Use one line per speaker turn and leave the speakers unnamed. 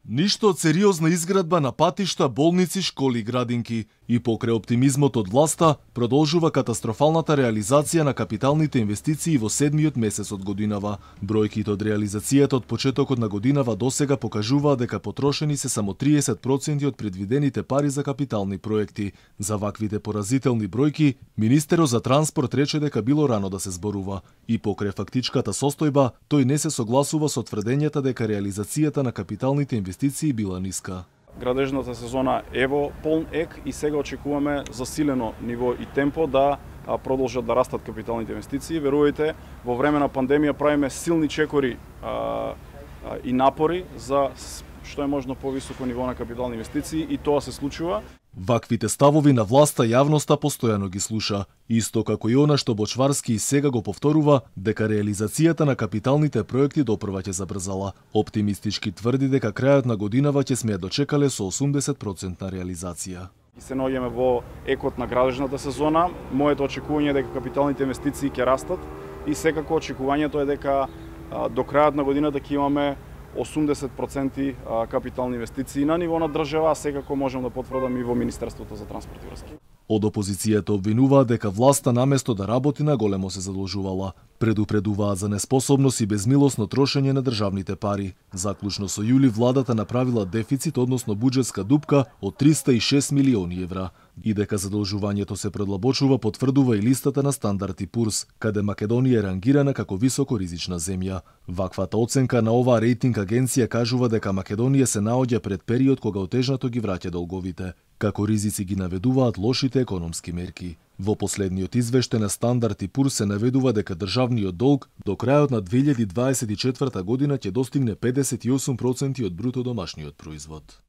Ништо од сериозна изградба на патишта, болници, школи и градинки. И покрај оптимизмот од власта, продолжува катастрофалната реализација на капиталните инвестиции во седмиот месец од годинава. Бројките од реализацијата од почетокот на годинава досега покажуваат дека потрошени се само 30% од предвидените пари за капитални проекти. За ваквите поразителни бројки, министерот за транспорт рече дека било рано да се зборува. И покрај фактичката состојба, тој не се согласува со тврдењата дека реализацијата на капиталните инвестиции била ниска.
Градежната сезона е во полн ек и сега очекуваме засилено ниво и темпо да продолжат да растат капиталните инвестиции. Верувајте, во време на пандемија правиме силни чекори и напори за што е можно повисоко ниво на капитални инвестиции и тоа се случува.
Ваквите ставови на власта јавноста постојано ги слуша, исто како и она што Бочварски и сега го повторува дека реализацијата на капиталните проекти допрва ќе забрзала. Оптимистички тврди дека крајот на годинава ќе сме ја дочекале со 80% на реализација.
И се наоѓаме во екот на градежната сезона. Моето очекување е дека капиталните инвестиции ќе растат и секако очекувањето е дека до крајот на годината ќе имаме 80% капитални инвестиции на ниво на држава, а секако можам да потврдам и во Министерството за транспорт и врски.
Од опозицијата обвинуваат дека власта наместо да работи на големо се задолжувала. Предупредуваат за неспособност и безмилосно трошење на државните пари. Заклучно со јули владата направила дефицит, односно буџетска дупка од 306 милиони евра. И дека задолжувањето се предлабочува потврдува и листата на Стандард и Пурс, каде Македонија е рангирана како високоризична земја. Ваквата оценка на оваа рейтинг агенција кажува дека Македонија се наоѓа пред период кога отежнато ги враќа долговите. Како ризици ги наведуваат лошите економски мерки. Во последниот извештај на Стандард и Пурс се наведува дека државниот долг до крајот на 2024 година ќе достигне 58% од бруто домашниот производ.